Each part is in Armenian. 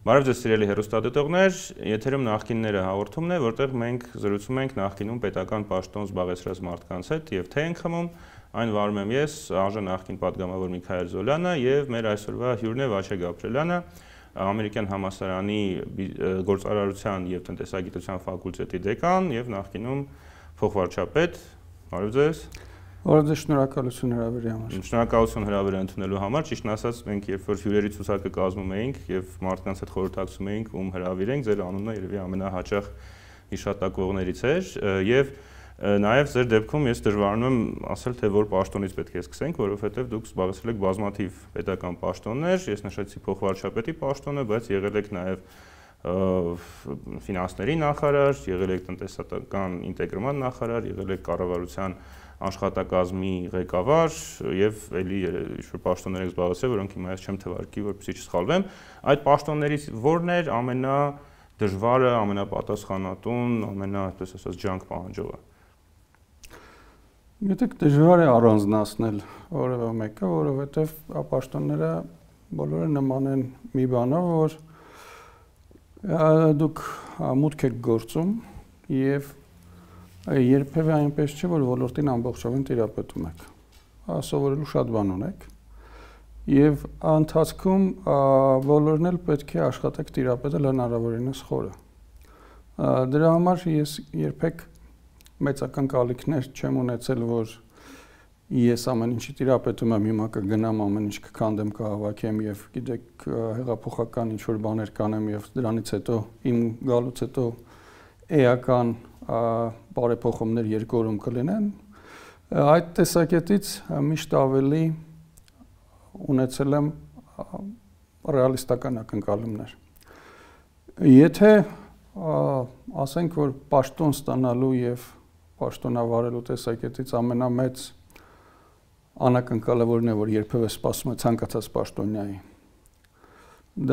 Բարև ձեզ սիրելի հեռուստադիտողներ, եթերում նախկինները հաղորդումն է, որտեղ մենք զրուցում ենք նախկինում պետական պաշտոն զբաղեցրած մարդկանց հետ եւ թե ենք խմում, այն վարում եմ ես, ԱԺ նախկին պատգամավոր Միքայել Զոլյանը եւ մեր այսօրվա հյուրն է Վաչե Գաբրելյանը, Ամերիկյան համալսարանի գործարարության եւ տնտեսագիտության ֆակուլտետի դեկան եւ նախկինում փոխվարչապետ։ Բարև ձեզ։ Բարև ձեզ, շնորհակալություն հրավերի համար։ Շնորհակալություն հրավերը ընդունելու համար։ Ճիշտն ասած, մենք երբ որ հյուրերի ցուցակը կազմում էինք եւ մարդկանց հետ խորհրդակցում էինք, ում հրավիրենք, ձեր անունը երևի ամենահաճախ հիշատակվողներից էր եւ նաեւ ձեր դեպքում ես դժվարանում եմ ասել, թե որ պաշտոնից պետք է սկսենք, որովհետեւ դուք զբաղեցրել եք բազմաթիվ պետական պաշտոններ, ես նշեցի փոխվարչապետի պաշտոնը, բայց եղել եք նաեւ ֆինանսների նախարար, եղել եք տնտեսական ինտեգրման նախարար, եղել եք կառավարության աշխատակազմի ղեկավար եւ էլի ինչ-որ պաշտոններ եք զբաղեցրել, որոնք հիմա ես չեմ թվարկի, որպեսզի չսխալվեմ։ Այդ պաշտոններից ո՞րն էր ամենադժվարը, ամենապատասխանատուն, այդպես ասած ջանք պահանջողը։ Գիտեք, դժվար է առանձնացնել որևէ մեկը, որովհետեւ պաշտոնները բոլորը նման են մի բանով, որ դուք մուտք եք գործում եւ երբևէ այնպես չէ, որ ոլորտին ամբողջովին տիրապետում եք։ Սովորելու շատ բան ունեք եւ ընթացքում բոլորն էլ պետք է աշխատեք տիրապետել հնարավորինս խորը։ Դրա համար ես երբեք մեծական կալիքներ չեմ ունեցել, որ ես ամեն ինչի տիրապետում եմ, հիմա կգնամ ամեն ինչ կքանդեմ, կհավաքեմ եւ գիտեք հեղափոխական ինչ որ բաներ կանեմ եւ դրանից հետո իմ գալուց հետո էական բարեփոխումներ երկու օրում կլինեն, այդ տեսակետից միշտ ավելի ունեցել եմ ռեալիստական ակնկալումներ։ Եթե ասենք, որ պաշտոն ստանալու եւ պաշտոնավարելու տեսակետից ամենամեծ անակնկալը որն է, որ երբևէ սպասում է ցանկացած պաշտոնյայի,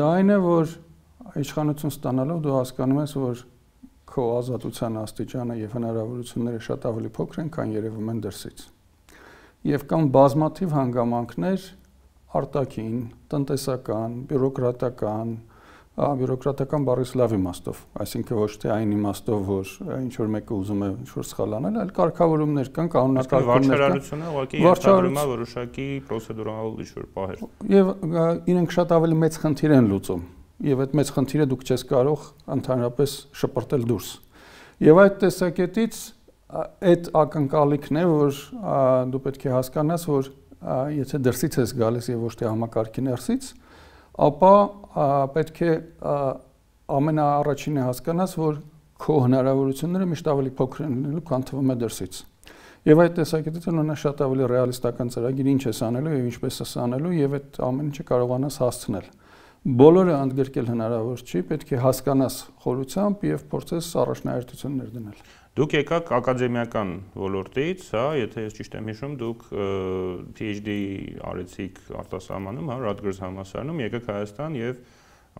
դա այն է, որ իշխանություն ստանալով դու հասկանում ես, որ քո ազատության աստիճանը եւ հնարավորությունները շատ ավելի փոքր են, քան երևում են դրսից։ Եվ կան բազմաթիվ հանգամանքներ արտաքին, տնտեսական, բյուրոկրատական բառից լավ իմաստով, այսինքն ոչ թե այն իմաստով, որ ինչ որ մեկը ուզում է ինչ որ սխալ անել, այլ կարգավորումներ կան, կանոնակարգումներ կան։ Վարչարարությունը ուղղակի ենթադրում է որոշակի պրոցեդուրալ ինչ որ պահեր։ Եվ իրենք շատ ավելի մեծ խնդիր են լուծում։ Եվ այդ մեծ խնդիրը դուք չես կարող ընդհանրապես շպրտել դուրս։ Եվ այդ տեսակետից այդ ակնկալիքն է, որ դու պետք է հասկանաս, որ եթե դրսից ես գալիս եւ ոչ թե համակարգի ներսից, ապա պետք է ամենաառաջինը հասկանաս, որ քո հնարավորությունները միշտ ավելի փոքր են լինելու, քան թվում է դրսից։ Եվ այդ տեսակետից ունենա շատ ավելի ռեալիստական ծրագիր, ինչ ես անելու եւ ինչպես ես անելու եւ այդ ամեն ինչը կարողանաս հասցնել։ Բոլորը ընդգրկել հնարավոր չի, պետք է հասկանաս խորությամբ եւ փորձես առաջնահերթություններ դնել։ Դուք եկաք ակադեմիական ոլորտից, հա, եթե ես ճիշտ եմ հիշում, դուք PhD արեցիք արտասահմանում, հա, Rutgers համալսարանում, եկաք Հայաստան եւ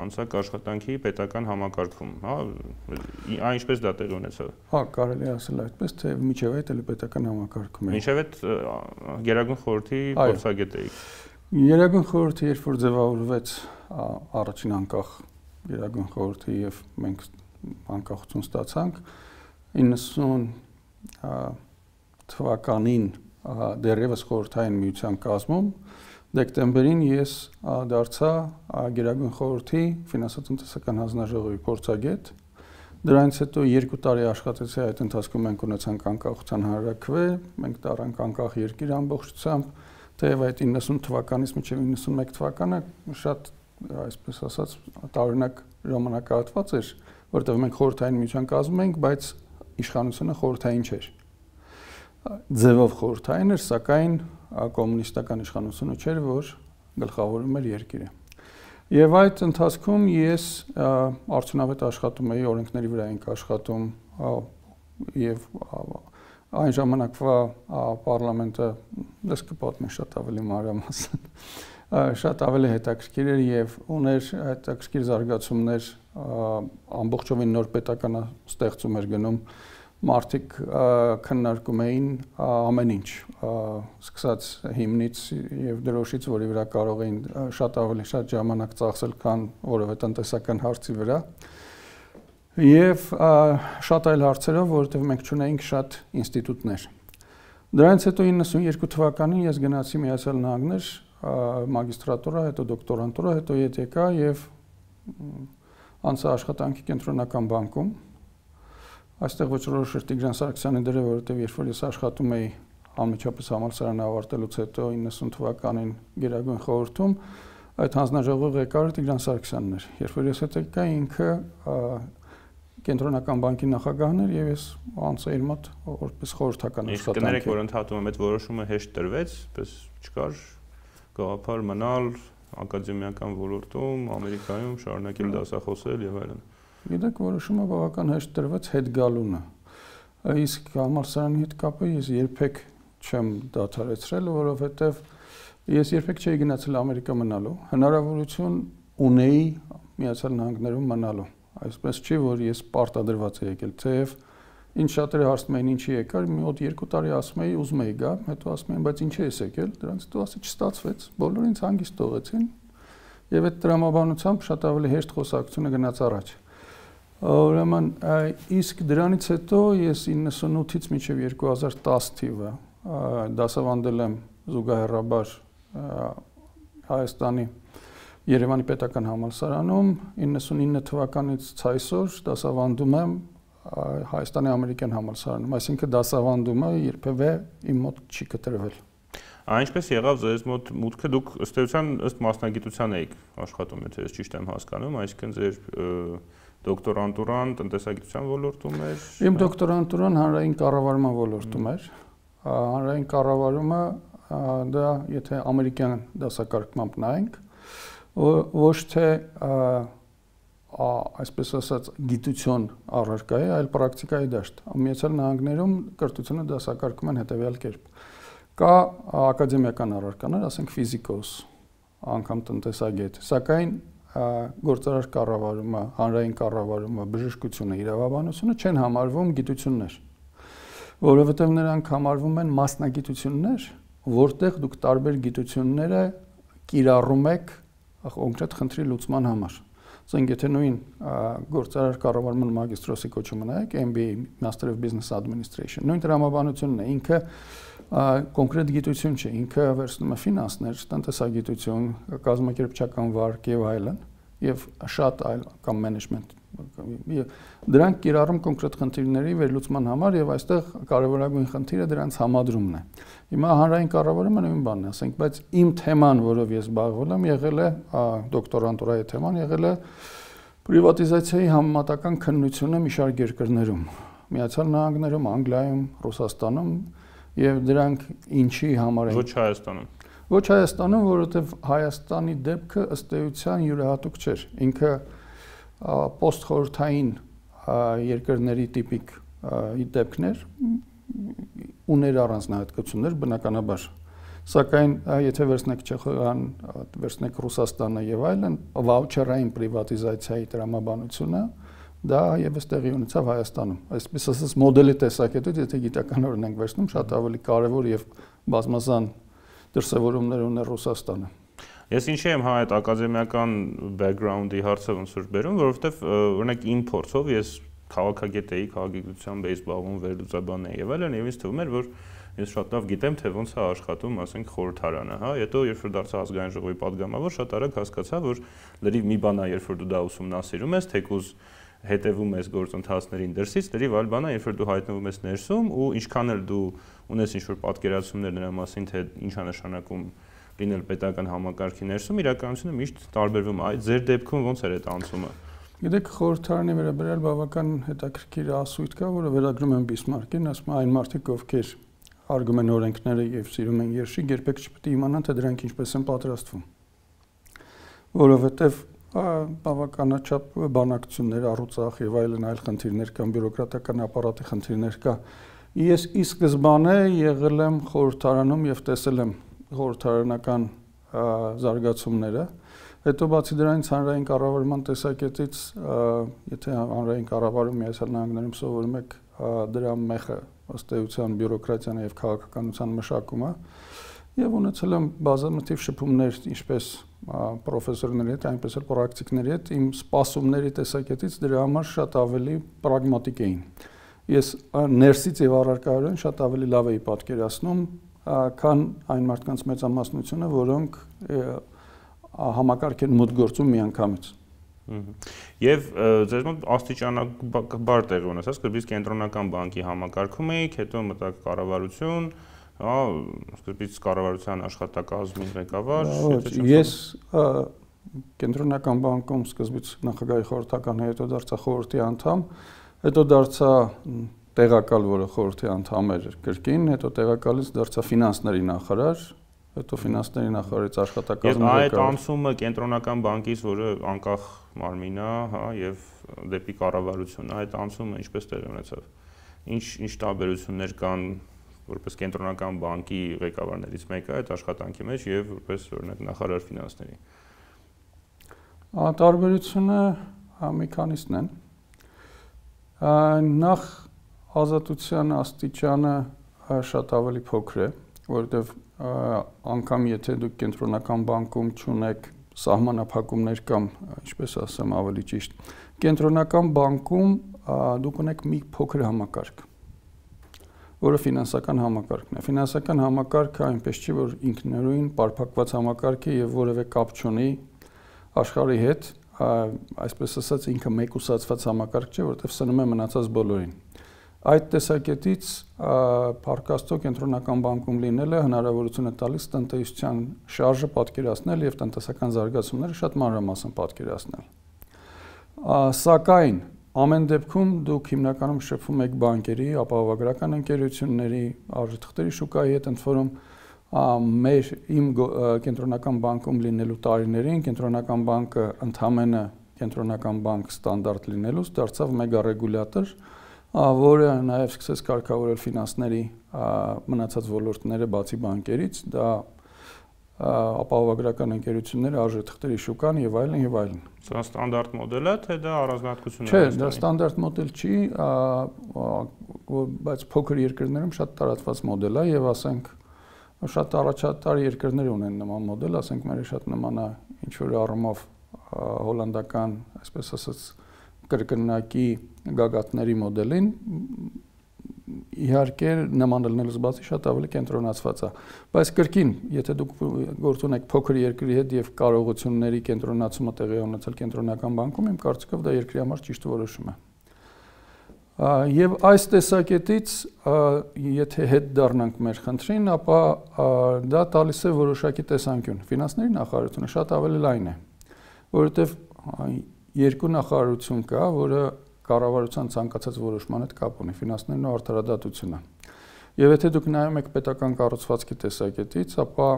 անցաք աշխատանքի պետական համակարգում, հա, այն ինչպես դա տեղի ունեցավ։ Հա, կարելի ասել այդպես, թե միջև այդ էլի պետական համակարգում է։ Միջև այդ Գերագույն խորհրդի փորձագետ էիք։ Գերագույն խորհուրդը երբ որ ձևավորվեց առաջին անկախ Գերագույն խորհրդի եւ մենք անկախություն ստացանք 90 թվականին դեռևս խորհրդային միության կազմում դեկտեմբերին ես դարձա Գերագույն խորհրդի ֆինանսատնտեսական հանձնաժողովի փորձագետ։ Դրանից հետո 2 տարի աշխատեցի, այդ ընթացքում մենք ունեցանք անկախության հանրաքվե, մենք տարանք անկախ երկիր ամբողջությամբ, թեև այդ 90 թվականից մինչև 91 թվականը շատ, այսպես ասած, տարօրինակ ժամանակահատված էր, որտեղ մենք խորհրդային միության կազմում էինք, բայց իշխանությունը խորհրդային չէր։ Ձևով խորհրդային էր, սակայն կոմունիստական իշխանությունը չէր, որ գլխավորում էր երկիրը։ Եվ այդ ընթացքում ես արդյունավետ աշխատում էի, օրենքների վրա էինք աշխատում եւ այն ժամանակվա պարլամենտը դες կպատմի շատ ավելի մանրամասն, շատ ավելի հետաքրքիր էր եւ ուներ հետաքրքիր զարգացումներ, ամբողջովին նոր պետական ստեղծում էր գնում, մարդիկ քննարկում էին ամեն ինչ, սկսած հիմնից եւ դրոշից, որի վրա կարող էին շատ ավելի շատ ժամանակ ծախսել, քան որևէ տնտեսական հարցի վրա։ Եվ շատ այլ հարցերով, որովհետեւ մենք ունեինք շատ ինստիտուտներ։ Դրանից հետո 92 թվականին ես գնացի Միացյալ Նահանգներ, մագիստրատուրա, հետո դոկտորանտուրա, հետո ԵՏԿ եւ անցա աշխատանքի կենտրոնական բանկում։ Այստեղ ոչռորոշ Տիգրան Սարգսյանի դերը, որովհետև երբ որ ես աշխատում էի անմիջապես համալսարանը ավարտելուց հետո 90 թվականին Գերագույն խորհրդում, այդ հանձնաժողովի ղեկավարը Տիգրան Սարգսյանն էր։ Երբ որ ես հետ եկա, ինքը կենտրոնական բանկի նախագահն էր եւ ես անցա իր մոտ որպես խորհրդական աշխատանքի։ Կներեք, որ ընդհատում եմ, այդ որոշումը հեշտ տրվեց, պես չկար գաղափար մնալ ակադեմիական ոլորտում, Ամերիկայում շարունակել դասախոսել եւ այլն։ Գիտեք, որոշումը բավական հեշտ տրվեց հետ գալունը։ Իսկ համալսարանի հետ կապը ես երբեք չեմ դադարեցրել, որովհետեւ ես երբեք չէի գնացել Ամերիկա մնալու, հնարավորություն ունեի Միացյալ Նահանգներում մնալու։ Այսպես չի, որ ես պարտադրված եմ եկել, թեև ինչ շատերը հարցնում էին ինչի եկար, մի հոտ 2 տարի ասում էի ուզում էի գա, հետո ասում էին բայց ինչի ես եկել, դրանից հետո ասի չստացվեց, բոլորը ինձ հանգիստ թողեցին եւ այդ տրամաբանությամբ շատ ավելի հեշտ խոսակցությունը գնաց առաջ։ Ուրեմն իսկ դրանից հետո ես 98-ից մինչև 2010 թիվը դասավանդել եմ զուգահեռաբար Հայաստանի Երևանի պետական համալսարանում, 99 թվականից ցայսօր դասավանդում եմ Հայաստանի ամերիկյան համալսարանում, այսինքն դասավանդումը երբևէ իմ մոտ չի կտրվել։ Այնպես եղավ ձեզ մոտ մուտքը, դուք ըստ էության ըստ մասնագիտության եք աշխատում, եթե ես ճիշտ եմ հասկանում, այսինքն ձեր դոկտորանտուրան տնտեսագիտության ոլորտում էր։ Իմ դոկտորանտուրան հանրային կառավարման ոլորտում էր։ Հանրային կառավարումը դա եթե ամերիկյան դասակարգմամբ նայենք, ոչ թե այսպես ասած գիտություն առարկա է, այլ պրակտիկայի դաշտ։ Միացյալ Նահանգներում կրթությունը դասակարգում են հետևյալ կերպ։ Կա ակադեմիական առարկաներ, ասենք ֆիզիկոս, անգամ տնտեսագետ, սակայն գործարար կառավարումը, հանրային կառավարումը, բժշկությունը, իրավաբանությունը չեն համարվում գիտություններ, որովհետև նրանք համարվում են մասնագիտություններ, որտեղ դուք տարբեր գիտությունները կիրառում եք կոնկրետ խնդրի լուծման համար։ Ասենք եթե նույն գործարար կառավարման մագիստրոսի կոչումը նայեք, MBA, Master of Business Administration, նույն տրամաբանությունն է, ինքը կոնկրետ գիտություն չէ, ինքը վերցնում է ֆինանսներ, տնտեսագիտություն, կազմակերպչական վարկ եւ այլն, եւ շատ այլ կամ management։ Դրանք կիրառում կոնկրետ խնդիրների վերլուծման համար եւ այստեղ կարևորագույն խնդիրը դրանց համադրումն է։ Հիմա հանրային կառավարումը նույն բանն է, ասենք, բայց իմ թեման, որով ես զբաղվել եմ, եղել է դոկտորանտուրայի թեման, եղել է պրիվատիզացիայի համեմատական քննությունը մի շարք երկրներում, Միացյալ Նահանգներում, Անգլիայում, Ռուսաստանում եւ դրանք ինչի համար են։ Ոչ Հայաստանում։ Ոչ Հայաստանում, որովհետեւ Հայաստանի դեպքը ըստ էության յուրահատուկ չէր։ Ինքը post-խորհրդային երկրների տիպիկ դեպքներ ուներ առանձնահատկություններ բնականաբար, սակայն եթե վերցնեք Չեխիան, վերցնեք Ռուսաստանը եւ այլն, վաուչերային պրիվատիզացիայի տրամաբանությունը դա եւս տեղի ունեցավ Հայաստանում։ Այսպես ասած մոդելի տեսակետից, եթե գիտական օրինակ վերցնում, շատ ավելի կարեւոր եւ բազմազան դրսևորումներ ուներ Ռուսաստանը։ Ես ինչի եմ այդ ակադեմիական background-ի հարցը ոնց որ բերում, որովհետև օրինակ իմ փորձով ես քաղաքագետ էի, քաղաքագիտությամբ էի զբաղվում, վերլուծաբան էի եւ այլն, եւ ինձ թվում էր, որ ես շատ լավ գիտեմ, թե ոնց է աշխատում, ասենք, խորհրդարանը, հա, հետո երբ որ դարձա ազգային ժողովի падգամավոր, շատ արագ հասկացա, որ լրիվ մի բան է, երբ որ դու դա ուսումնասիրում ես, թեկուզ հետևում ես գործընթացներին դրսից, լրիվ այլ բան է, երբ որ դու հայտնվում ես ներսում ու ինչքան էլ դու ունես ինչ-որ պատկերացումներ նրա մասին, թե ինչ է նշանակում լինել պետական համակարգի ներսում, իրականությունը միշտ տարբերվում է։ Այդ ձեր դեպքում ոնց էր այդ անցումը։ Գիտեք, խորհրդարանի վերաբերյալ բավական հետաքրքիր ասույթ կա, որը վերագրում են Բիսմարկին, ասում այն մարդիկ, ովքեր հարգում են օրենքները եւ սիրում են երշիկ, երբեք չպետք է իմանան, թե դրանք ինչպես են պատրաստվում։ Որովհետեւ բավականաչափ բանակցություններ, առուծախ եւ այլն այլ խնդիրներ կան, բյուրոկրատական ապարատի խնդիրներ կա։ Ես ի սկզբանե եղել եմ խորհրդարանում եւ տեսել եմ խորհրդարանական զարգացումները, Հետո բացի դրանից հանրային կառավարման տեսակետից, եթե հանրային կառավարում Միացյալ Նահանգներում սովորում եք, դրա մեխը ըստ էության բյուրոկրատիան եւ քաղաքականության մշակումը, եւ ունեցել եմ բազմաթիվ շփումներ ինչպես պրոֆեսորների հետ, այնպես էլ պրակտիկների հետ, իմ սպասումների տեսակետից դրա համար շատ ավելի պրագմատիկ էին։ Ես ներսից եւ առարկայորեն շատ ավելի լավ էի պատկերացնում, քան այն մարդկանց մեծամասնությունը, որոնք համակարգ են մոտ գործում միանգամից։ Եվ ձեզ մոտ աստիճանաբար տեղի ունեցած, սկզբից կենտրոնական բանկի համակարգում էիք, հետո մտաք կառավարություն, սկզբից կառավարության աշխատակազմի ղեկավար։ Ես կենտրոնական բանկում սկզբից նախագահի խորհրդական, հետո դարձա խորհրդի անդամ, հետո դարձա տեղակալ, որը խորհրդի անդամ էր կրկին, հետո տեղակալից դարձա ֆինանսների նախարար, հետո ֆինանսների նախարարից աշխատակազմի ղեկավար։ Այդ անցումը կենտրոնական բանկից, որը անկախ մարմին է, հա, եւ դեպի կառավարություն, այդ անցումը ինչպես տեղի ունեցավ։ Ինչ տարբերություններ կան որպես կենտրոնական բանկի ղեկավարներից մեկը այդ աշխատանքի մեջ եւ որպես օրինակ նախարար ֆինանսների։ Տարբերությունը մի քանիսն են։ Նախ ազատության աստիճանը շատ ավելի փոքր է, որովհետեւ անգամ եթե դուք կենտրոնական բանկում չունեք սահմանափակումներ կամ ինչպես ասեմ ավելի ճիշտ, կենտրոնական բանկում դուք ունեք մի փոքր համակարգ, որը ֆինանսական համակարգն է։ Ֆինանսական համակարգը այնպես չի, որ ինքնուրույն պարփակված համակարգ է եւ որևէ կապ չունի աշխարհի հետ, այսպես ասած ինքը մեկուսացված համակարգ չէ, որովհետեւ սնում է մնացած բոլորին։ Այդ տեսակետից Փառք Աստծո կենտրոնական բանկում լինելը հնարավորություն է տալիս տնտեսության շարժը պատկերացնել եւ տնտեսական զարգացումները շատ մանրամասն պատկերացնել։ Սակայն ամեն դեպքում դուք հիմնականում շփվում եք բանկերի, ապահովագրական ընկերությունների, արժեթղթերի շուկայի հետ, ընդ որում իմ կենտրոնական բանկում լինելու տարիներին կենտրոնական բանկը ընդհանրապես կենտրոնական բանկ ստանդարտ լինելուց դարձավ մեգարեգուլյատոր, որը նաև սկսեց կարգավորել ֆինանսների մնացած ոլորտները բացի բանկերից, դա ապահովագրական ընկերությունները, արժեթղթերի շուկան եւ այլն եւ այլն։ Սա ստանդարտ մոդել է, թե դա առանձնահատկություն է։ Չէ, դա ստանդարտ մոդել չի, բայց փոքր երկրներում շատ տարածված մոդել է եւ ասենք շատ առաջատար երկրներ ունեն նման մոդել, ասենք մերը շատ նման է ինչ որ առումով հոլանդական, այսպես ասած, կրկնակի գագաթների մոդելին, իհարկե նման լինելուց բացի շատ ավելի կենտրոնացված է, բայց կրկին, եթե դուք գործ ունեք փոքր երկրի հետ եւ կարողությունների կենտրոնացումը տեղի ունեցել կենտրոնական բանկում, իմ կարծիքով դա երկրի համար ճիշտ որոշում է։ Եվ այս տեսակետից, եթե հետ դառնանք մեր խնդրին, ապա դա տալիս է որոշակի տեսանկյուն։ Ֆինանսների նախարարությունը շատ ավելի լայն է, որովհետեւ երկու նախարարություն կա, որը կառավարության ցանկացած որոշման հետ կապ ունի, ֆինանսներն ու արդարադատությունը։ Եվ եթե դուք նայում եք պետական կառուցվածքի տեսակետից, ապա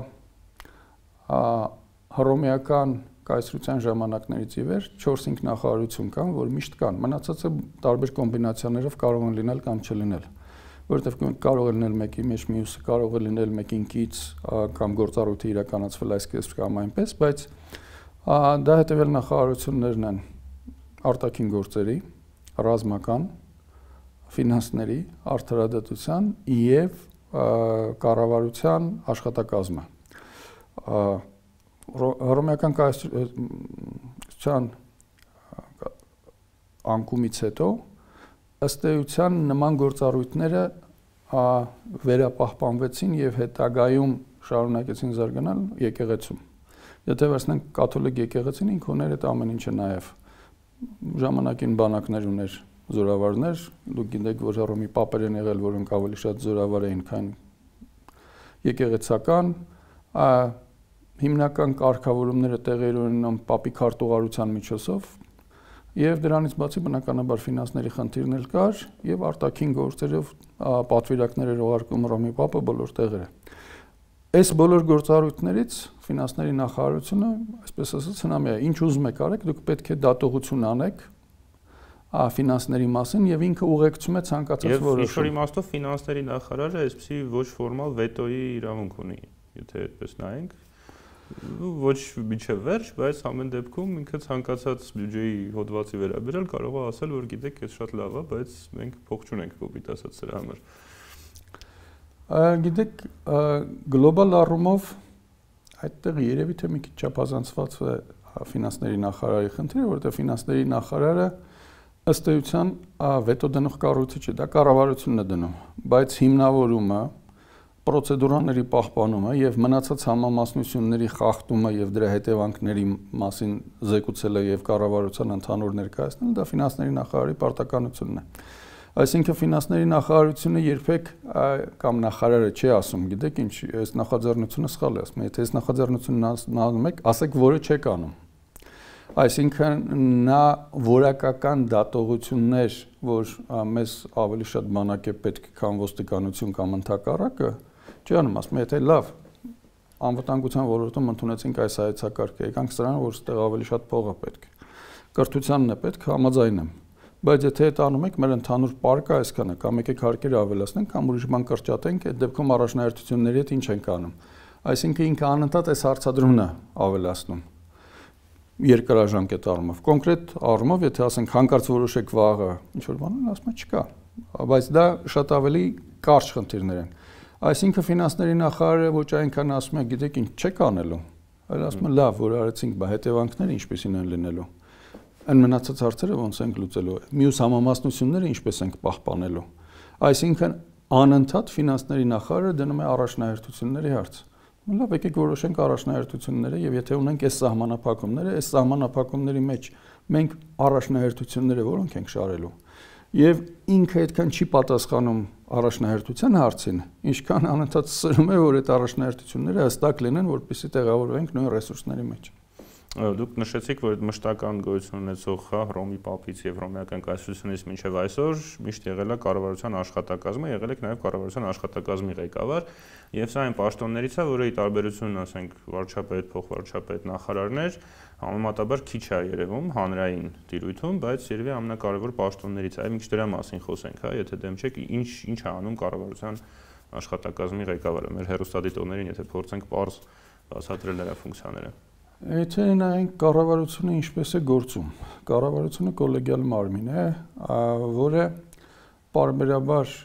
հռոմեական կայսրության ժամանակներից ի վեր 4-5 նախարարություն կան, որ միշտ կան։ Մնացածը տարբեր կոմբինացիաներով կարող են լինել կամ չլինել, որովհետև կարող է լինել մեկի մեջ մյուսը, կարող է լինել մեկին կից կամ գործառույթը իրականացվել այսպես կամ այնպես, բայց դա հետևյալ նախարարություններն են արտաքին գործերի, ռազմական, ֆինանսների, արդարադատության եւ կառավարության աշխատակազմը։ Հռոմեական կայսրության անկումից հետո ըստ էության նման գործառույթները վերապահպանվեցին եւ հետագայում շարունակեցին զարգանալ եկեղեցում։ Եթե վերցնենք կաթոլիկ եկեղեցին, ինքը ուներ այդ ամեն ինչը նաեւ ժամանակին բանակներ ուներ, զորավարներ, դուք գիտեք, որ Հռոմի պապեր են եղել, որոնք ավելի շատ զորավար էին, քան եկեղեցական, հիմնական կարգավորումները տեղի ունենում պապի քարտուղարության միջոցով, եւ դրանից բացի բնականաբար ֆինանսների խնդիրներ կար եւ արտաքին գործերով պատվիրակներ էր ուղարկում Հռոմի պապը բոլոր տեղերը։ Այս բոլոր գործառույթներից ֆինանսների նախարարությունը, այսպես ասած, հնամի է, ինչ ուզում եք արեք, դուք պետք է դատողություն անեք ֆինանսների մասին եւ ինքը ուղեկցում է ցանկացած որոշում։ Եվ ինչ-որ իմաստով ֆինանսների նախարարը այսպեսի ոչ ֆորմալ վետոյի իրավունք ունի, եթե այդպես նայենք։ ոչ միջև վերջ, բայց ամեն դեպքում ինքը ցանկացած բյուջեի հոդվածի վերաբերյալ կարող է ասել, որ գիտեք, ez շատ լավ է, բայց մենք փող չունենք կոպիտ ասած սրա համար։ Գիտեք, գլոբալ առումով այդտեղ երևի թե մի քիչ չափազանցված է ֆինանսների նախարարի խնդիրը, որովհետև ֆինանսների նախարարը ըստ էության վետո դնող կառույցը չէ, դա կառավարությունն է դնում, բայց հիմնավորումը, պրոցեդուրաների պահպանումը եւ մնացած համամասնությունների խախտումը եւ դրա հետևանքների մասին զեկուցելը եւ կառավարության ընդհանուր ներկայացնելը դա ֆինանսների նախարարի պարտականությունն է։ Այսինքն ֆինանսների նախարարությունը երբեք կամ նախարարը չի ասում, գիտեք ինչ, այս նախաձեռնությունը սխալ է, ասում, եթե այս նախաձեռնությունն անում եք, ասեք, որը չեք անում։ Այսինքն նա որակական դատողություններ, որ մեզ ավելի շատ բանակ է պետք, քան ոստիկանություն կամ ընդհակառակը, չի անում, ասում, եթե լավ անվտանգության ոլորտում ընդունեցինք այս հայեցակարգը, եկանք սրան, որ ստեղ ավելի շատ փող է պետք։ Կրթությանն է պետք, համաձայն եմ։ Բայց եթե այդ անում եք, մեր ընդհանուր պարկը այսքան է, կամ եկեք հարկերը ավելացնենք, կամ ուրիշ բան կրճատենք, այդ դեպքում առաջնահերթությունների հետ ինչ ենք անում։ Այսինքն ինքը անընդհատ այս հարցադրումն է ավելացնում երկարաժամկետ առումով։ Կոնկրետ առումով, եթե ասենք հանկարծ որոշեք վաղը ինչ որ բան, ասում է չկա, բայց դա շատ ավելի կարճ խնդիրներ են։ Այսինքն ֆինանսների նախարարը ոչ այնքան ասում է, գիտեք ինչ չեք անելու, այլ ասում է լավ, որ արեցինք, բա հետևանքները ինչպեսին են լինելու։ Այն մնացած հարցերը ոնց ենք լուծելու։ Մյուս համամասնությունները ինչպես ենք պահպանելու։ Այսինքն անընդհատ ֆինանսների նախարարը դնում է առաջնահերթությունների հարց։ Լավ, եկեք որոշենք առաջնահերթությունները եւ եթե ունենք այս սահմանափակումները, այս սահմանափակումների մեջ մենք առաջնահերթությունները որոնք ենք շարելու։ Եվ ինքը այդքան չի պատասխանում առաջնահերթության հարցին, ինչքան անընդհատ սրում է, որ այդ առաջնահերթությունները հստակ լինեն, որպեսզի տեղավորվենք նույն ռեսուրսների մեջ։ Դուք նշեցիք, որ այդ մշտական գոյություն ունեցող Հռոմի Պապից եւ հռոմեական կայսրությունից մինչեւ այսօր միշտ եղել է կառավարության աշխատակազմը, եղել եք նաեւ կառավարության աշխատակազմի ղեկավար, եւ սա այն պաշտոններից է, որը ի տարբերություն, ասենք, վարչապետ, փոխվարչապետ, նախարարներ, համեմատաբար քիչ է երևում հանրային տիրույթում, բայց երևի ամենակարևոր պաշտոններից է։ Այ մի քիչ դրա մասին խոսենք, հա, եթե դեմ չեք, ինչ է անում կառավարության աշխատակազմի ղեկավարը, մեր հեռուստադիտողներին, եթե փորձենք պարզ բացատրել նրա ֆունկցիաները։ Եթե նայենք կառավարությունը ինչպես է գործում, կառավարությունը կոլեգիալ մարմին է, որը պարբերաբար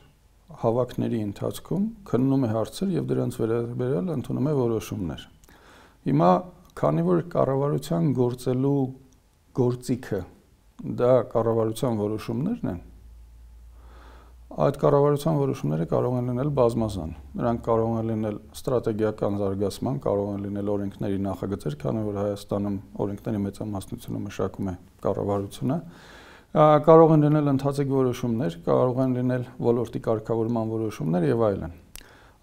հավաքների ընթացքում քննում է հարցեր եւ դրանց վերաբերյալ ընդունում է որոշումներ։ Հիմա քանի որ կառավարության գործելու գործիքը դա կառավարության որոշումներն են, այդ կառավարության որոշումները կարող են լինել բազմազան։ Նրանք կարող են լինել ստրատեգիական զարգացման, կարող են լինել օրենքների նախագծեր, քանի որ Հայաստանում օրենքների մեծամասնությունը մշակում է կառավարությունը, կարող են լինել ընթացիկ որոշումներ, կարող են լինել ոլորտի կարգավորման որոշումներ եւ այլն։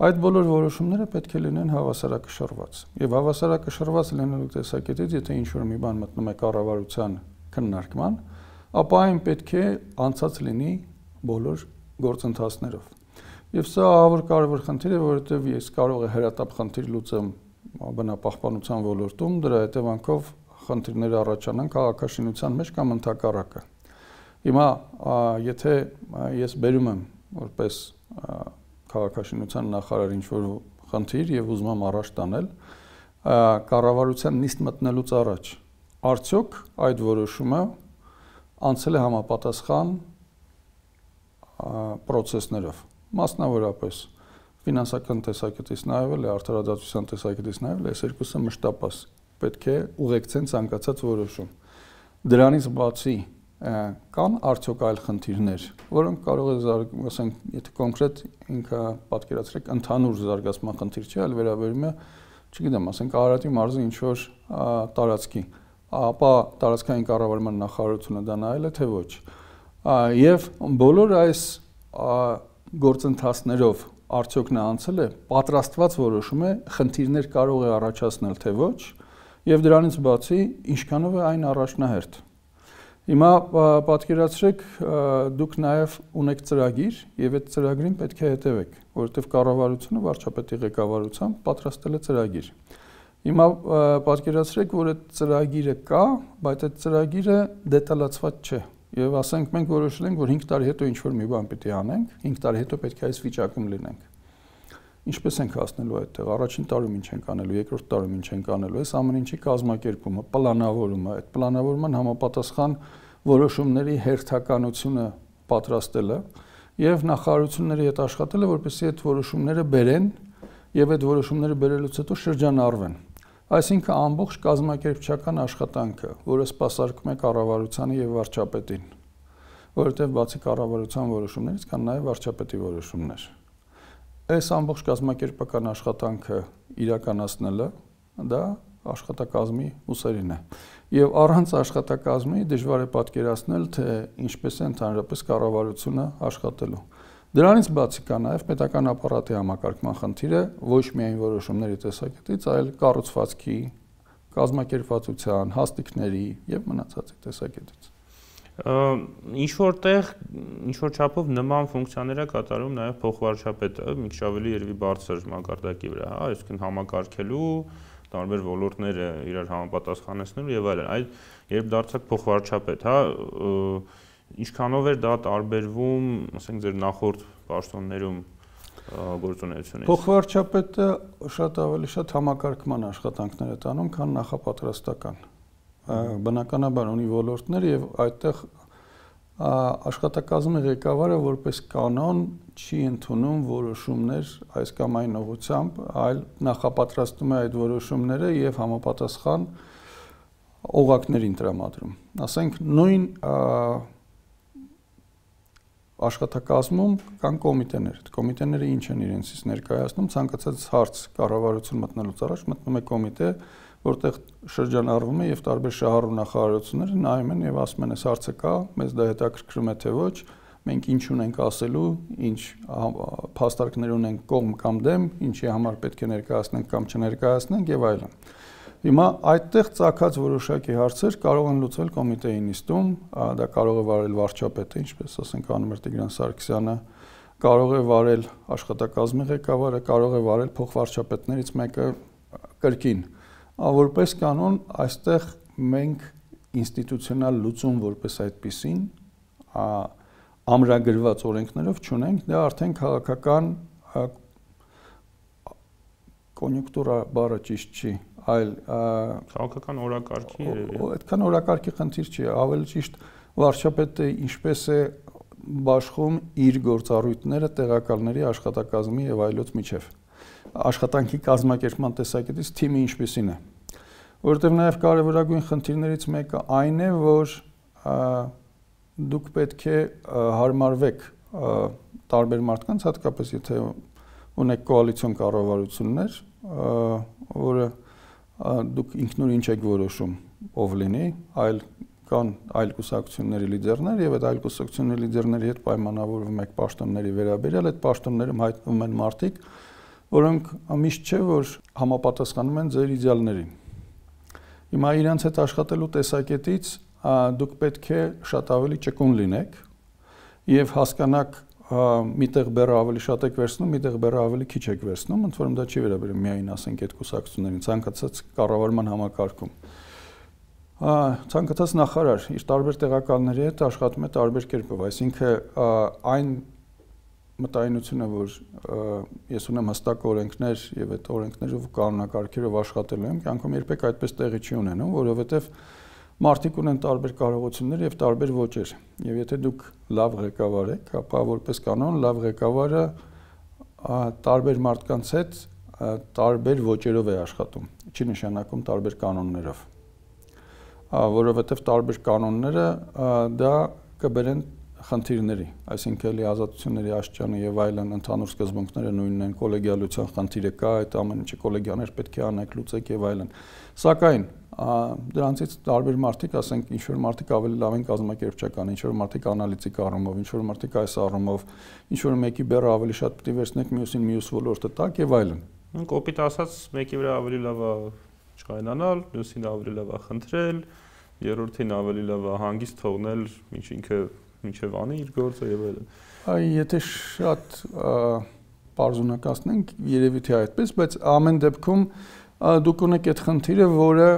Այդ բոլոր որոշումները պետք է լինեն հավասարակշռված։ Եվ հավասարակշռված լինելու տեսակետից, եթե ինչ-որ մի բան մտնում է կառավարության քննարկման, ապա այն պետք է անցած լինի բոլոր գործընթացներով։ Եվ սա ահավոր կարևոր խնդիր է, որովհետև ես կարող եմ հրատապ խնդիր լուծեմ բնապահպանության ոլորտում, դրա հետևանքով խնդիրներ առաջանան քաղաքաշինության մեջ կամ ընդհակառակը։ Հիմա եթե ես բերում եմ որպես քաղաքաշինության նախարար ինչ-որ խնդիր եւ ուզում եմ առաջ տանել, կառավարության նիստ մտնելուց առաջ արդյոք այդ որոշումը անցել է համապատասխան պրոցեսներով, մասնավորապես ֆինանսական տեսակետից նայվել է, արդարադատության տեսակետից նայվել է, այս երկուսը մշտապես պետք է ուղեկցեն ցանկացած որոշում։ Դրանից բացի կան արդյոք այլ խնդիրներ, որոնք կարող է ասենք, եթե կոնկրետ ինքը պատկերացրեք ընդհանուր զարգացման խնդիր չի, այլ վերաբերում է, չգիտեմ, ասենք Արարատի մարզի ինչ-որ տարածքի, ապա տարածքային կառավարման նախարարությունը դա նայել է, թե ոչ։ Եվ բոլոր այս գործընթացներով արդյոք նա անցել է, պատրաստված որոշում է, խնդիրներ կարող է առաջացնել, թե ոչ, եւ դրանից բացի ինչքանով է այն առաջնահերթ։ Հիմա պատկերացրեք, դուք նաև ունեք ծրագիր եւ այդ ծրագրին պետք է հետևեք, որովհետեւ կառավարությունը վարչապետի ղեկավարությամբ պատրաստել է ծրագիր։ Հիմա պատկերացրեք, որ այդ ծրագիրը կա, բայց այդ ծրագիրը դետալացված չէ։ Եվ ասենք մենք որոշել ենք, որ 5 տարի հետո ինչ-որ մի բան պիտի անենք, 5 տարի հետո պետք է այս վիճակում լինենք։ ինչպես ենք հասնելու այդտեղ, առաջին տարում ինչ ենք անելու, երկրորդ տարում ինչ ենք անելու, այս ամեն ինչի կազմակերպումը, պլանավորումը, այդ պլանավորման համապատասխան որոշումների հերթականությունը պատրաստելը եւ նախարարությունների հետ աշխատելը, որպեսզի այդ որոշումները բերեն եւ այդ որոշումները բերելուց հետո շրջանառվեն։ Այսինքն ամբողջ կազմակերպչական աշխատանքը, որը սպասարկում է կառավարությանը եւ վարչապետին, որովհետեւ բացի կառավարության որոշումներից կան նաեւ վարչապետի որոշումներ։ Այս ամբողջ կազմակերպական աշխատանքը իրականացնելը դա աշխատակազմի ուսերին է։ Եվ առանց աշխատակազմի դժվար է պատկերացնել, թե ինչպես է ընդհանրապես կառավարությունը աշխատելու։ Դրանից բացի կա նաև պետական ապարատի համակարգման խնդիրը ոչ միայն որոշումների տեսակետից, այլ կառուցվածքի, կազմակերպվածության, հաստիկների եւ մնացածի տեսակետից։ Ինչ որ չափով նման ֆունկցիաներ է կատարում նաև փոխվարչապետը, մի քիչ ավելի երևի բարձր մակարդակի վրա, հա, այսինքն համակարգելու տարբեր ոլորտները իրար համապատասխանեցնելու եւ այլն։ Այդ երբ դարձաք փոխվարչապետ, հա, ինչքանով էր դա տարբերվում, ասենք ձեր նախորդ պաշտոններում գործունեությունից։ Փոխվարչապետը շատ ավելի շատ համակարգման աշխատանքներ է տանում, քան նախապատրաստական։ Բնականաբար ունի ոլորտներ եւ այդտեղ աշխատակազմի ղեկավարը որպես կանոն չի ընդունում որոշումներ այս կամ այն ուղղությամբ, այլ նախապատրաստում է այդ որոշումները եւ համապատասխան օղակներին տրամադրում։ Ասենք նույն աշխատակազմում կան կոմիտեներ։ Կոմիտեները ինչ են իրենցից ներկայացնում, ցանկացած հարց կառավարություն մտնելուց առաջ մտնում է կոմիտե, որտեղ շրջանառվում է եւ տարբեր շահառու նախարարությունները նայում են եւ ասում են, այս հարցը կա, մեզ դա հետաքրքրում է թե ոչ, մենք ինչ ունենք ասելու, ինչ փաստարկներ ունենք կողմ կամ դեմ, ինչի համար պետք է ներկայացնենք կամ չներկայացնենք եւ այլն։ Հիմա այդտեղ ցակած որոշակի հարցեր կարող են լուծվել կոմիտեի նիստում, դա կարող է վարել վարչապետը, ինչպես ասենք անում էր Տիգրան Սարգսյանը, կարող է վարել աշխատակազմի ղեկավարը, կարող է վարել փոխվարչապետներից մեկը կրկին։ Որպես կանոն, այստեղ մենք ինստիտուցիոնալ լուծում որպես այդպիսին ամրագրված օրենքներով չունենք, դա արդեն քաղաքական կոնյունկտուրա բառը ճիշտ չի, այլ քաղաքական օրակարգի երևի։ Այդքան օրակարգի խնդիր չի, ավելի ճիշտ վարչապետը ինչպես է բաշխում իր գործառույթները տեղակալների աշխատակազմի եւ այլոց միջև։ Աշխատանքի կազմակերպման տեսակետից թիմը ինչպեսին է, որովհետև նաև կարևորագույն խնդիրներից մեկը այն է, որ դուք պետք է հարմարվեք տարբեր մարդկանց, հատկապես եթե ունեք կոալիցիոն կառավարություններ, որը դուք ինքնուրույն չեք որոշում ով լինի, այլ կան այլ կուսակցությունների լիդերներ եւ այդ այլ կուսակցությունների լիդերների հետ պայմանավորվում եք պաշտոնների վերաբերյալ, այդ պաշտոններում հայտնվում են մարդիկ, որոնք միշտ չէ որ համապատասխանում են ձեր իդեալներին։ Հիմա իրենց հետ աշխատելու տեսակետից դուք պետք է շատ ավելի ճկուն լինեք եւ հասկանաք միտեղ բեռը ավելի շատ եք վերցնում, միտեղ բեռը ավելի քիչ եք վերցնում, ընդ որում դա չի վերաբերում միայն ասենք այդ կուսակցություններին, ցանկացած կառավարման համակարգում։ Ցանկացած նախարար իր տարբեր տեղակալների հետ աշխատում է տարբեր կերպով, այսինքն այն մտայնությունը, որ ես ունեմ հստակ օրենքներ եւ այդ օրենքներով կանոնակարգերով աշխատելու եմ, կյանքում երբեք այդպես տեղի չի ունենում, որովհետեւ մարդիկ ունեն տարբեր կարողություններ եւ տարբեր ոճեր։ Եվ եթե դուք լավ ղեկավար եք, ապա որպես կանոն լավ ղեկավարը տարբեր մարդկանց հետ տարբեր ոճերով է աշխատում, չի նշանակում տարբեր կանոններով։ Որովհետեւ տարբեր կանոնները դա կբերեն խնդիրների, այսինքն ազատությունների աշճանը եւ այլն ընդհանուր սկզբունքները նույնն են, կոլեգիալության խնդիրը կա, այդ ամեն ինչը կոլեգիաներ պետք է անեք, լուծեք եւ այլն։ Սակայն դրանցից տարբեր մարդիկ, ասենք ինչ որ մարդիկ ավելի լավ են կազմակերպչական, ինչ որ մարդիկ անալիտիկ առումով, ինչ որ մարդիկ այս առումով, ինչ որ մեկի բեռը ավելի շատ պետք է վերցնեք, մյուսին մյուս ոլորտը տակ եւ այլն։ Կոպիտ ասած, մեկի վրա ավելի լավ է չկայանալ, մյուսին ավելի լավ է խնդրել, երրորդին ավելի լավ է հանգիստ թողնել, ինքը մինչև անի իր գործը եւ այլն։ Եթե շատ պարզունակացնենք, երևի թե այդպես, բայց ամեն դեպքում դուք ունեք այդ խնդիրը, որը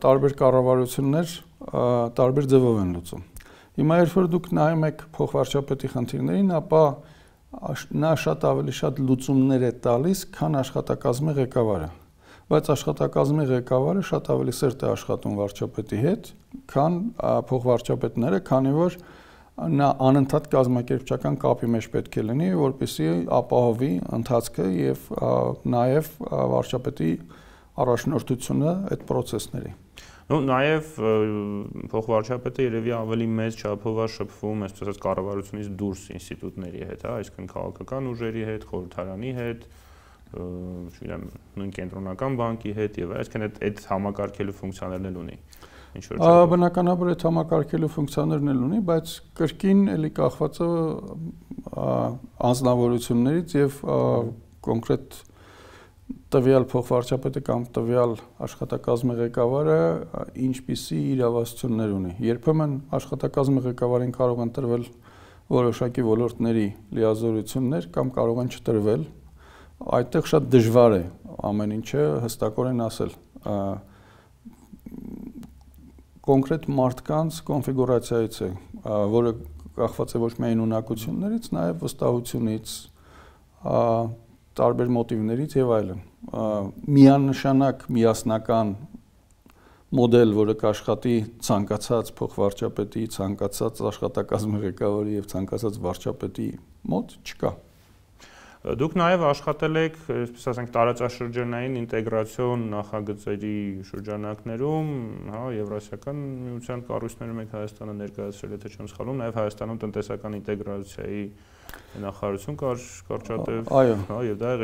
տարբեր կառավարություններ տարբեր ձևով են լուծում։ Հիմա երբ որ դուք նայում եք փոխվարչապետի խնդիրներին, ապա նա շատ ավելի շատ լուծումներ է տալիս, քան աշխատակազմի ղեկավարը։ Բայց աշխատակազմի ղեկավարը շատ ավելի սերտ է աշխատում վարչապետի հետ, քան փոխվարչապետները, քանի որ նա անընդհատ կազմակերպչական կապի մեջ պետք է լինի, որպեսզի ապահովի ընթացքը եւ նաեւ վարչապետի առաջնորդությունը այդ process-ների։ Ну, նաև փոխվարչապետը երևի ավելի մեծ չափով է շփվում, այսպես ասած, կառավարությունից դուրս ինստիտուտների հետ, հա, այսինքն քաղաքական ուժերի հետ, խորհրդարանի հետ, չգիտեմ, նույն կենտրոնական բանկի հետ եւ այսինքն այդ համակարգելու ֆունկցիաներն էլ ունի։ Ինչ որ բնականաբար այդ համակարգելու ֆունկցիաներն էլ ունի, բայց կրկին էլի կախված է անձնավորություններից եւ կոնկրետ տվյալ փոխվարչապետը կամ տվյալ աշխատակազմի ղեկավարը ինչպիսի իրավասություններ ունի։ Երբեմն աշխատակազմի ղեկավարին կարող են տրվել որոշակի ոլորտների լիազորություններ կամ կարող են չտրվել։ Այդտեղ շատ դժվար է ամեն ինչը հստակորեն ասել։ Կոնկրետ մարդկանց կոնֆիգուրացիայից է, որը կախված է ոչ միայն ունակություններից, նաև վստահությունից, տարբեր մոտիվներից եւ այլն։ Միանշանակ միասնական մոդել, որը կաշխատի ցանկացած փոխվարչապետի, ցանկացած աշխատակազմի ղեկավարի եւ ցանկացած վարչապետի մոտ չկա։ Դուք նաև աշխատել եք, այսպես ասենք, տարածաշրջանային ինտեգրացիոն նախագծերի շրջանակներում, հա, Եվրասիական միության կառույցներում եք Հայաստանը ներկայացրել, եթե չեմ սխալվում, նաև Հայաստանում տնտեսական ինտեգրացիայի նախարարություն կար կարճատև, հա, եւ դա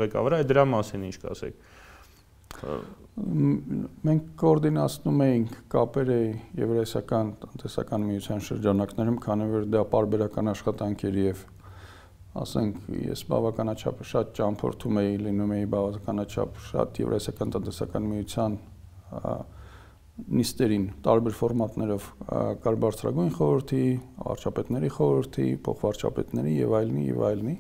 ղեկավարը, այդ դրա մասին ինչ կասեք։ Մենք կոորդինացնում էինք կապերը Եվրասիական տնտեսական միության շրջանակներում, քանի որ դա պարբերական աշխատանք էր եւ ասենք ես բավականաչափ շատ ճամփորդում էի, լինում էի բավականաչափ շատ Եվրասիական տնտեսական միության նիստերին տարբեր ֆորմատներով կար բարձրագույն խորհրդի, վարչապետների խորհրդի, փոխվարչապետների եւ այլնի,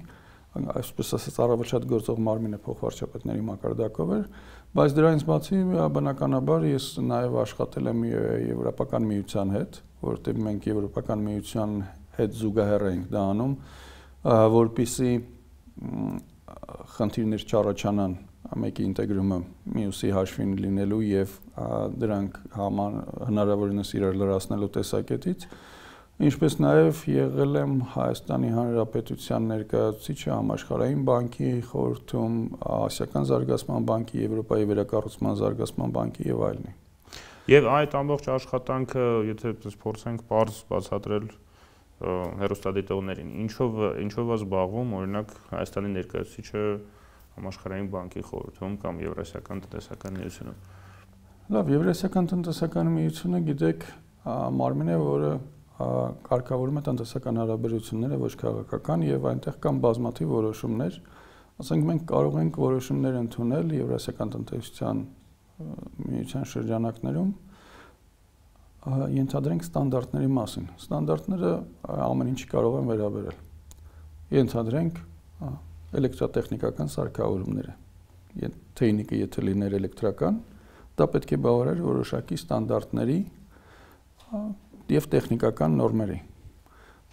այսպես ասած առավել շատ գործող մարմինը փոխվարչապետների մակարդակով էր, բայց դրանից բացի բնականաբար ես նաեւ աշխատել եմ Եվրոպական միության հետ, որովհետեւ մենք Եվրոպական միության հետ զուգահեռ ենք դա անում, որպեսզի խնդիրներ չառաջանան մեկի ինտեգրումը մյուսի հաշվին լինելու եւ դրանք հնարավորինս իրար լրացնելու տեսակետից, ինչպես նաեւ եղել եմ Հայաստանի Հանրապետության ներկայացուցիչը Համաշխարհային բանկի խորհրդում, Ասիական զարգացման բանկի, Եվրոպայի վերակառուցման զարգացման բանկի եւ այլնի։ Եվ այդ ամբողջ աշխատանքը, եթե փորձենք պարզ բացատրել հեռուստադիտողներին, ինչով է զբաղվում, օրինակ Հայաստանի ներկայացուցիչը Համաշխարհային բանկի խորհրդում կամ Եվրասիական տնտեսական միությունում։ Լավ, Եվրասիական տնտեսական միությունը, գիտեք, մարմին է, որը կարգավորում է տնտեսական հարաբերությունները ոչ քաղաքական եւ այնտեղ կան բազմաթիվ որոշումներ, ասենք մենք կարող ենք որոշումներ ընդունել Եվրասիական տնտեսության միության շրջանակներում, ենթադրենք ստանդարտների մասին։ Ստանդարտները ամեն ինչի կարող են վերաբերել։ Ենթադրենք էլեկտրատեխնիկական սարքավորումները։ Թեյնիկը եթե լիներ էլեկտրական, դա պետք է բավարար որոշակի ստանդարտների եւ տեխնիկական նորմերի։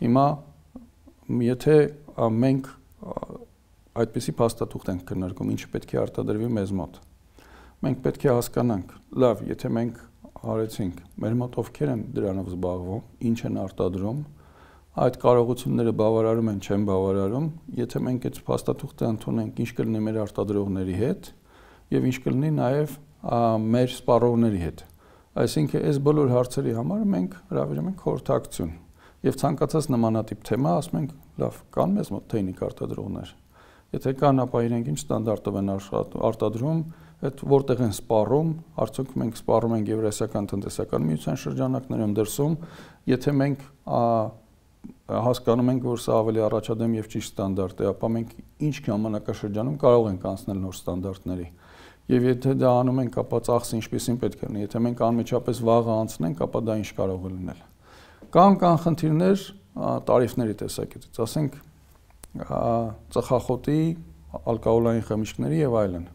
Հիմա եթե մենք այդպիսի փաստաթուղթ ենք քննարկում, ինչը պետք է արտադրվի մեզ մոտ, մենք պետք է հասկանանք, լավ, եթե մենք արեցինք, մեր մոտ ովքեր են դրանով զբաղվում, ինչ են արտադրում, այդ կարողությունները բավարարում են, չեն բավարարում, եթե մենք այդ փաստաթուղթը ընդունենք, ինչ կլինի մեր արտադրողների հետ եւ ինչ կլինի նաեւ մեր սպառողների հետ։ Այսինքն այս բոլոր հարցերի համար մենք հրավիրում ենք խորհրդակցություն եւ ցանկացած նմանատիպ թեմա ասում ենք, լավ, կան մեզ մոտ թեյնիկ արտադրողներ։ Եթե կան, ապա իրենք ինչ ստանդարտով են արտադրում, այդ որտեղ են սպառում, արդյոք մենք սպառում ենք Եվրասիական տնտեսական միության շրջանակներում դրսում, եթե մենք հասկանում ենք, որ սա ավելի առաջադեմ եւ ճիշտ ստանդարտ է, ապա մենք ինչ ժամանակաշրջանում կարող ենք անցնել նոր ստանդարտների։ Եվ եթե դա անում ենք, ապա ծախսը ինչպեսին պետք է լինի, եթե մենք անմիջապես վաղը անցնենք, ապա դա ինչ կարող է լինել։ Կան խնդիրներ տարիֆների տեսակետից, ասենք ծխախոտի, ալկոհոլային խմիչքների եւ այլն։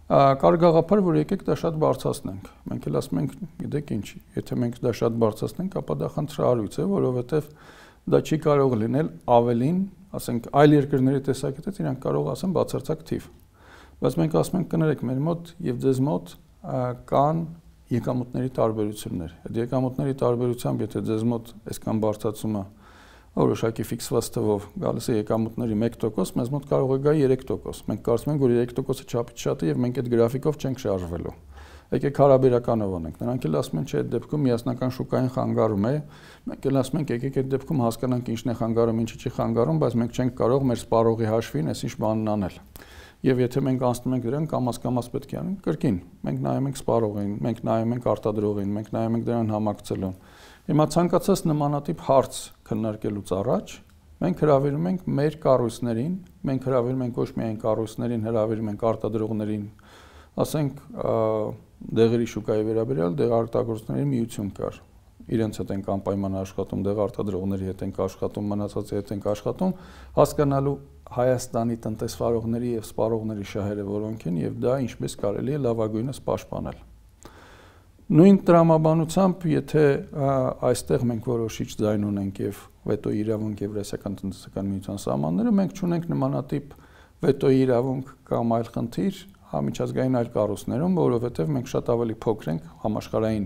Կար գաղափար, որ եկեք դա շատ բարձրացնենք։ Մենք էլ ասում ենք, գիտեք ինչ, եթե մենք դա շատ բարձրացնենք, ապա դա խնդրահարույց է, որովհետեւ դա չի կարող լինել ավելին ասենք այլ երկրների տեսակետից իրանք կարող ասեն բացարձակ թիվ։ Բայց մենք ասում ենք կներեք մեր մոտ եւ ձեզ մոտ կան եկամուտների տարբերություններ։ Այդ եկամուտների տարբերությամբ, եթե ձեզ մոտ այսքան բարձրացումը որոշակի ֆիքսված թվով գալիս է եկամուտների 1%, մեզ մոտ կարող է գա 3%։ Մենք կարծում ենք, որ 3%-ը չափից շատ է եւ մենք այդ գրաֆիկով չենք շարժվելու։ Եկեք հարաբերականով անենք։ Նրանք էլ ասում են, չէ, այդ դեպքում միասնական շուկային խանգարում է։ Մենք էլ ասում ենք, եկեք այդ դեպքում հասկանանք ինչն է խանգարում, ինչը չի խանգարում, բայց մենք չենք կարող մեր սպառողի հաշվին այսինչ բանն անել։ Եվ եթե մենք անցնում ենք դրան կամաց պետք է անենք կրկին։ Մենք նայում ենք սպառողին, մենք նայում ենք արտադրողին, մենք նայում ենք դրան համակցելուն։ Հիմա ցանկացած նմանատիպ հարց քննարկելուց առաջ մենք հրավիրում ենք մեր կառույցներին, մենք հրավիրում ենք ոչ միայն կառույցներին, հրավիրում ենք արտադրողներին, ասենք դեղերի շուկայի վերաբերյալ դեղարտագործների միություն կար։ Իրենց հետ ենք անպայման աշխատում, դեղարտադրողների հետ ենք աշխատում, մնացածի հետ ենք աշխատում, հասկանալու Հայաստանի տնտեսվարողների եւ սպառողների շահերը որոնք են եւ դա ինչպես կարելի է լավագույնս պաշտպանել։ Նույն տրամաբանությամբ, եթե այստեղ մենք որոշիչ ձայն ունենք եւ վետոյի իրավունք Եվրասիական տնտեսական միության սահմանները, մենք չունենք նմանատիպ վետոյի իրավունք կամ այլ խնդիր համաճարակային այլ կառույցներում, որովհետեւ մենք շատ ավելի փոքր ենք համաշխարհային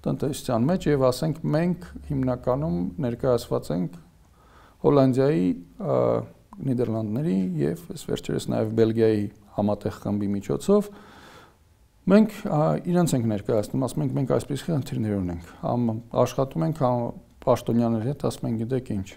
տնտեսության մեջ եւ ասենք մենք հիմնականում ներկայացված ենք Հոլանդիայի, Նիդերլանդների եւ այս վերջերս նաեւ Բելգիայի համատեղ խմբի միջոցով մենք իրենց ենք ներկայացնում, ասում ենք մենք այսպիսի խնդիրներ ունենք, աշխատում ենք պաշտոնյաների հետ, ասում ենք գիտեք ինչ,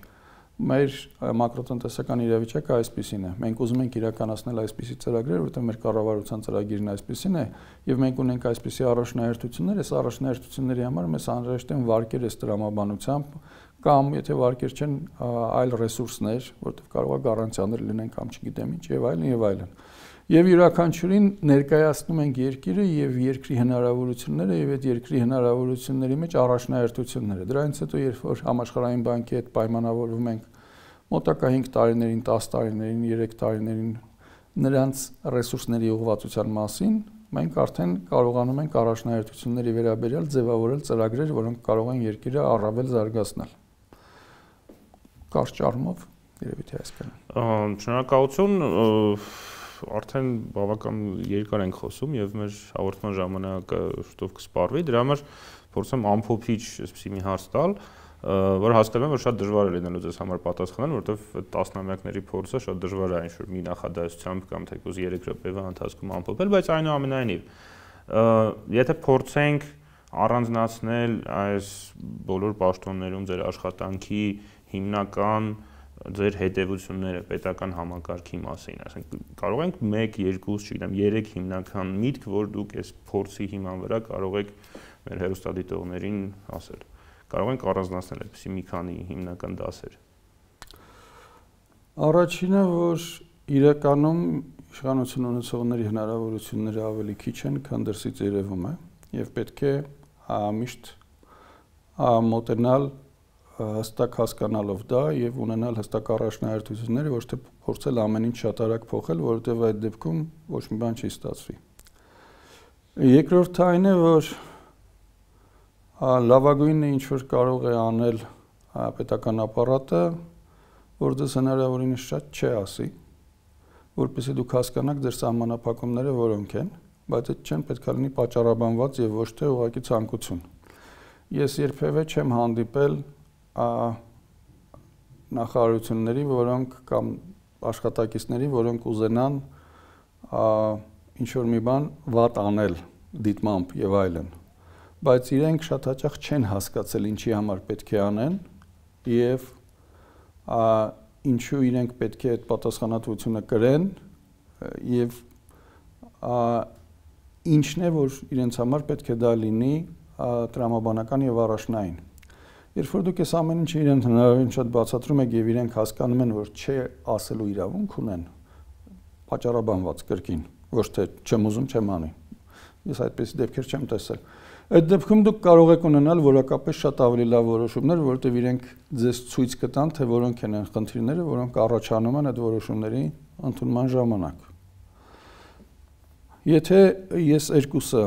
մեր մակրոտնտեսական իրավիճակը այսպիսին է, մենք ուզում ենք իրականացնել այսպիսի ծրագրեր, որտեղ մեր կառավարության ծրագիրն այսպիսին է եւ մենք ունենք այսպիսի առաջնահերթություններ, այս առաջնահերթությունների համար մեզ անհրաժեշտ են վարկեր այս տրամաբանությամբ կամ եթե վարկեր չեն այլ ռեսուրսներ, որտեղ կարող է գարանտիաներ լինեն կամ չգիտեմ ինչ եւ այլն եւ այլն։ Եվ յուրաքանչյուրին ներկայացնում ենք երկիրը եւ երկրի հնարավորությունները եւ այդ երկրի հնարավորությունների մեջ առաջնահերթությունները։ Դրանից հետո երբ որ համաշխարհային բանկի հետ պայմանավորվում ենք մոտակա 5 տարիներին, 10 տարիներին, 3 տարիներին նրանց ռեսուրսների ուղղվածության մասին, մենք արդեն կարողանում ենք առաջնահերթությունների վերաբերյալ ձևավորել ծրագրեր, որոնք կարող են երկիրը առավել զարգացնել։ Կարճ առումով երևի թե այսքան։ Շնորհակալություն, արդեն բավական երկար ենք խոսում եւ մեր հաղորդման ժամանակը շուտով կսպառվի, դրա համար փորձեմ ամփոփիչ այսպեսի մի հարց տալ, որ հասկանում եմ, որ շատ դժվար է լինելու ձեզ համար պատասխանել, որովհետեւ տասնամյակների փորձը շատ դժվար է ինչ-որ մի նախադասությամբ կամ թեկուզ 3 րոպեվա ընթացքում ամփոփել, բայց այնուամենայնիվ, եթե փորձենք առանձնացնել այս բոլոր պաշտոններում ձեր աշխատանքի հիմնական ձեր հետևությունները պետական համակարգի մասին, ասենք կարող ենք 1, 2, չգիտեմ, 3 հիմնական միտք, որ դուք այս փորձի հիման վրա կարող եք մեր հեռուստադիտողներին ասել։ Կարող ենք առանձնացնել այդպիսի մի քանի հիմնական դասեր։ Առաջինը, որ իրականում իշխանություն ունեցողների հնարավորությունները ավելի քիչ են, քան դրսից երևում է, եւ պետք է միշտ մոտենալ հստակ հասկանալով դա եւ ունենալ հստակ առաջնահերթությունները, ոչ թե փորձել ամեն ինչ շատ արագ փոխել, որովհետեւ այդ դեպքում ոչ մի բան չի ստացվի։ Երկրորդը այն է, որ լավագույնը ինչ որ կարող է անել պետական ապարատը, որ դες հնարավորինս շատ չի ասի, որպեսզի դուք հասկանաք ձեր սահմանափակումները որոնք են, բայց այդ չեն պետք է լինի պատճառաբանված եւ ոչ թե ուղղակի ցանկություն։ Ես երբևէ չեմ հանդիպել նախարարությունների, որոնք կամ աշխատակիցների, որոնք ուզենան ինչ որ մի բան վատ անել դիտմամբ եւ այլն, բայց իրենք շատ հաճախ չեն հասկացել ինչի համար պետք է անեն եւ ինչու իրենք պետք է այդ պատասխանատվությունը կրեն եւ ինչն է որ իրենց համար պետք է դա լինի տրամաբանական եւ առաջնային։ Երբ որ դուք այս ամեն ինչը իրենց հնարավորին շատ բացատրում եք եւ իրենք հասկանում են, որ չէ ասելու իրավունք ունեն, պատճառաբանված կրկին, ոչ թե չեմ ուզում, չեմ անի։ Ես այդպես դեպքեր չեմ տեսել։ Այդ դեպքում դուք կարող եք ունենալ որակապես շատ ավելի լավ որոշումներ, որովհետեւ իրենք ձեզ ցույց կտան, թե որոնք են այն խնդիրները, որոնք առաջանում են այդ որոշումների ընդունման ժամանակ։ Եթե ես երկուսը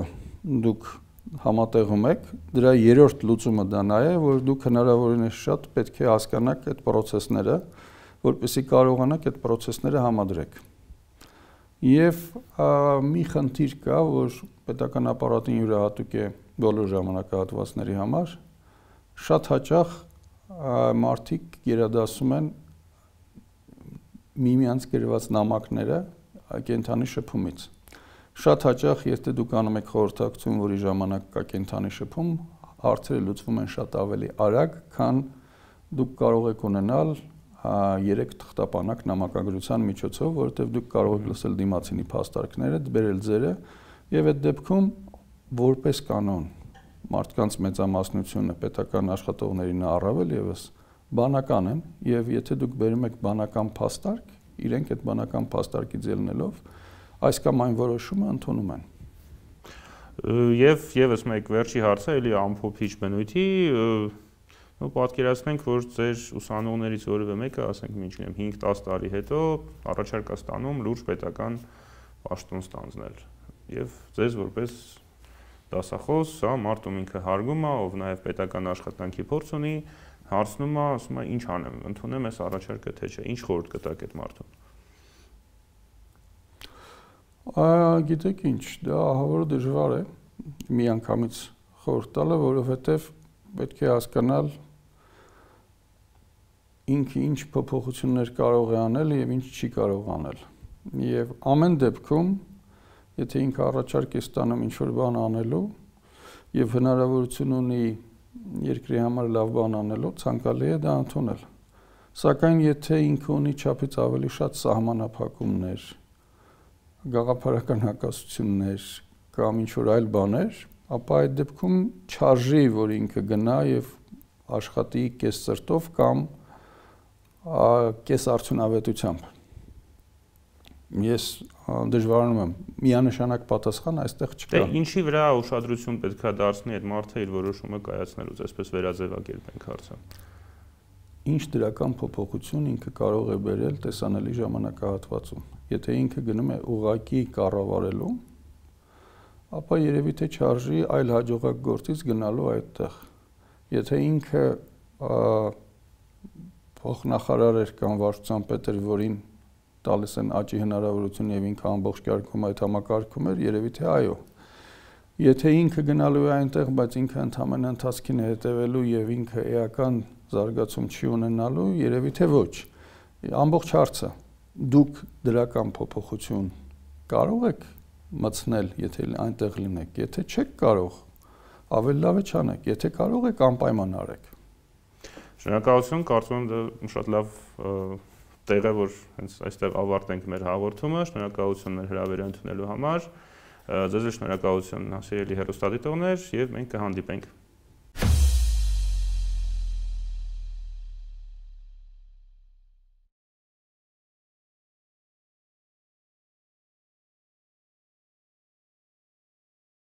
դուք համատեղում եք, դրա երրորդ լուծումը դա նա է, որ դուք հնարավորինս շատ պետք է հասկանաք այդ process-ները, որպեսզի կարողանաք այդ process-ները համադրեք։ Եվ մի խնդիր կա, որ պետական ապարատին յուրահատուկ է բոլոր ժամանակահատվածների համար, շատ հաճախ մարդիկ գերադասում են միմյանց գրված նամակները կենդանի շփումից։ Շատ հաճախ, եթե դուք անում եք խորհրդակցություն, որի ժամանակ կա կենդանի շփում, հարցերը լուծվում են շատ ավելի արագ, քան դուք կարող եք ունենալ 3 թղթապանակ նամակագրության միջոցով, որովհետև դուք կարող եք լսել դիմացինի փաստարկները, բերել ձերը, եւ այդ դեպքում որպես կանոն մարդկանց մեծամասնությունը պետական աշխատողներին առավել եւս բանական են, եւ եթե դուք բերում եք բանական փաստարկ, իրենք այդ բանական փաստարկից ելնելով այս կամ այն որոշումը ընդունում են։ Եվ եւս մեկ վերջի հարցը էլի ամփոփիչ բնույթի պատկերացնենք, որ ձեր ուսանողներից որևէ մեկը, ասենք, մինչև 5-10 տարի հետո առաջարկ է ստանում լուրջ պետական պաշտոն ստանձնել։ Եվ ձեզ որպես դասախոս, հա, մարդում ինքը հարգում է, ով նաև պետական աշխատանքի փորձ ունի, հարցնում է, ասում է, ինչ անեմ, ընդունեմ այս առաջարկը թե չէ, ինչ խորհուրդ կտաք այդ մարդուն։ Գիտեք ինչ, դա ահավոր դժվար է միանգամից խորհուրդ տալը, որովհետև պետք է հասկանալ ինքը ինչ փոփոխություններ կարող է անել եւ ինչ չի կարող անել։ Եվ ամեն դեպքում, եթե ինքը առաջարկ է ստանում ինչ-որ բան անելու եւ հնարավորություն ունի երկրի համար լավ բան անելու, ցանկալի է դա ընդունել։ Սակայն եթե ինքը ունի չափից ավելի շատ սահմանափակումներ, գաղափարական հակասություններ կամ ինչ-որ այլ բաներ, ապա այդ դեպքում չարժի, որ ինքը գնա եւ աշխատի կես սրտով կամ կես արդյունավետությամբ։ Ես դժվարանում եմ, միանշանակ պատասխան այստեղ չկա։ Դե ինչի վրա ուշադրություն պետք է դարձնի այդ մարդը իր որոշումը կայացնելուց, այսպես վերաձևակերպենք հարցը։ Ինչ դրական փոփոխություն ինքը կարող է բերել տեսանելի ժամանակահատվածում։ Եթե ինքը գնում է ուղղակի կառավարելու, ապա երևի թե չարժի այլ հաջողակ գործից գնալու այդտեղ։ Եթե ինքը փոխնախարար էր կամ վարչության պետ էր, որին տալիս են աճի հնարավորություն եւ ինքը ամբողջ կարգում այդ համակարգում էր, երևի թե այո։ Եթե ինքը գնալու է այնտեղ, բայց ինքը ընդհանրապես ընթացքին է հետևելու եւ ինքը էական զարգացում չի ունենալու, երևի թե ոչ։ Ամբողջ հարցը դուք դրական փոփոխություն կարող եք մտցնել, եթե այնտեղ լինեք, եթե չեք կարող, ավելի լավ է չանեք, եթե կարող եք անպայման արեք։ Շնորհակալություն, կարծում եմ դա շատ լավ տեղ է, որ հենց այստեղ ավարտենք մեր հաղորդումը, շնորհակալություն մեր հրավերը ընդունելու համար, ձեզ շնորհակալություն, սիրելի հեռուստադիտողներ, եւ մենք կհանդիպենք